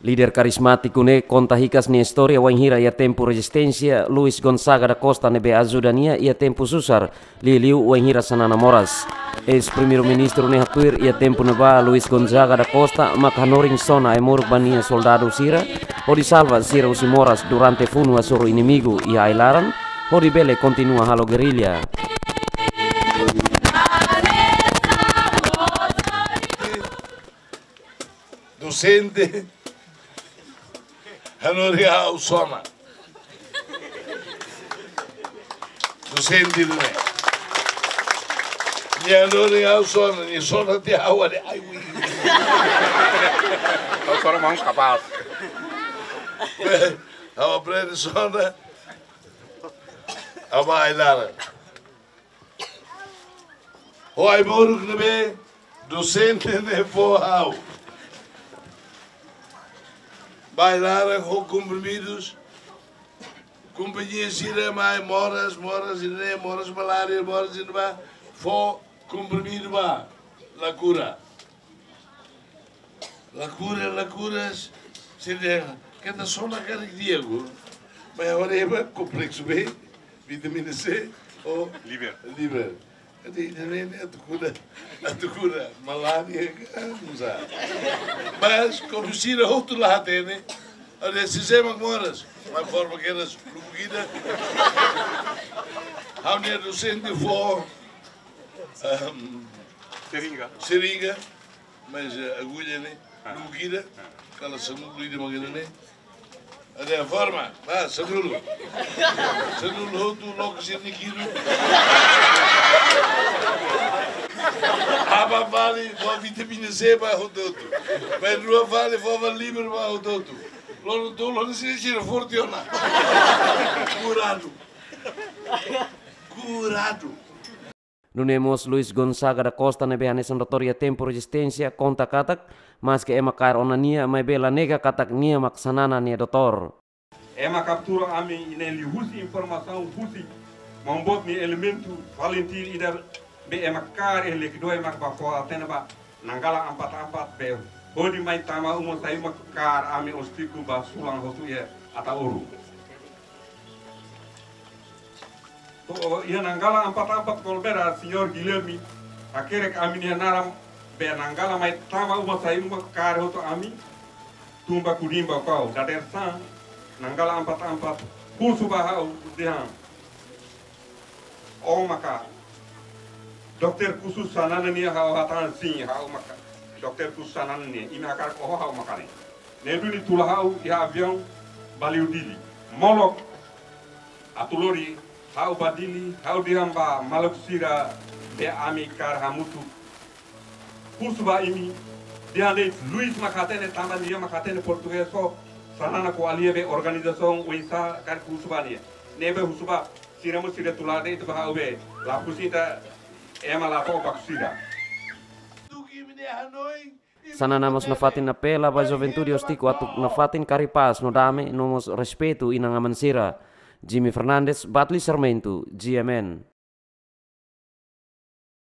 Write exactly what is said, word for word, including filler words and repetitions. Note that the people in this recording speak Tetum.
Líder karizmátiku ne'e konta hikas nia istória wainhira iha tempu rezisténsia, Luis Gonzaga da Costa ne'ebé ajuda nia iha tempu susar, liuliu wainhira Xanana moras. Eis-Primeiru-Ministru ne'e haktuir iha tempu ne'ebá Luis Gonzaga da Costa mak hanorin sona ai-moruk ba nia soldadu sira, hodi salva sira husi moras durante funu hasoru inimigu iha ai-laran, hodi bele kontinua halo gerrilla. Dosente hanorin ha'u sona. Dosente ne'e. Nia hanorin ha'u sona, nia sona tiha ha'u haree, ai, ui. Ha'u sona mós kapás. Ha'u aprende sona. Ha'u bá ai-laran. Ho ai-moruk ne'ebé dosente ne'e fó ha'u. Bá ai-laran ho komprimidus. Kompañia sira mai moras, moras ne'e, moras malária, moras ne'ebá, fó komprimidu bá, la kura. La kura, la kura, sira dehan, keta sona karik di'ak. Mas agora é complexo B, vitamina C, ou liver. Liver. Entaun, ida-ne'e atu kura, atu kura malária, ah, não sabe. Mas, kuandu sira hotu la hatene, entaun, se chama moras, mas forma que elas, lubukida. Ha'u-nia dosente fó, ahm, seringa. Seringa. Mas, eh, agulha ne'e, ah, lubukida, ah, kala sanulu ida mak ne'e. Entaun forma, ah, sanulu. Sanulu hotu, loke sira-nia kilu. Aban fali, fó vitamina C ba hotu-hotu. Mas rua fali, fó ba liver ba hotu-hotu. Loron tolu, loron sira, sira forte ona. Kuradu. Kuradu. Nune'e mós Luis Gonzaga da Costa ne'ebé hanesan doutór iha tempu rezisténsia konta katak, maske ema kaer ona nia, maibé la nega katak nia mak Xanana nia doutór. Ema kaptura ami ne'e liuhusi informasaun husi maun-boot nia elementu Valentin ida be ema kaer iha Lekidoya mak bá fó hatene ba Nanggala ampat-ampat be hodi mai tama uma sai uma kaer ami Ostico ba sulan hotu iha Ataúru. To'o iha Nanggala ampat-ampat Kolbera, Señór Guilherme hakerek ami-nia naran be Nanggala mai tama uma sai uma kaer hotu ami tun ba Kudimba kau. Dadeer-saan Nanggala ampat-ampat husu ba ha'u dehan: Ó maka Doutór Kusu Xanana nian? Ha'u hatán sin, ha'u maka Doutór Kusu Xanana nian. Imi hakarak oho, ha'u maka ne'e. Ne'e duni tula ha'u iha aviaun ba liu Dili. Molok atu lori ha'u ba Dili, ha'u dehan ba maluk sira be ami kaer hamutuk. Husu ba imi, dehan de'it Luis mak hatene, tanba nia mak hatene portugés ho Xanana ko'alia be organizasaun oinsá karik husu ba nia. Ne'ebé husu ba sira mós sira tula de'it ba ha'u be, la husi ita ema la to'o ba sira. Xanana mós nafatin apela ba juventude Ostico atu nafatin kari pás no dame no mós respeitu inan-aman sira. Jimmy Fernandes, Batli Sarmento, G M N.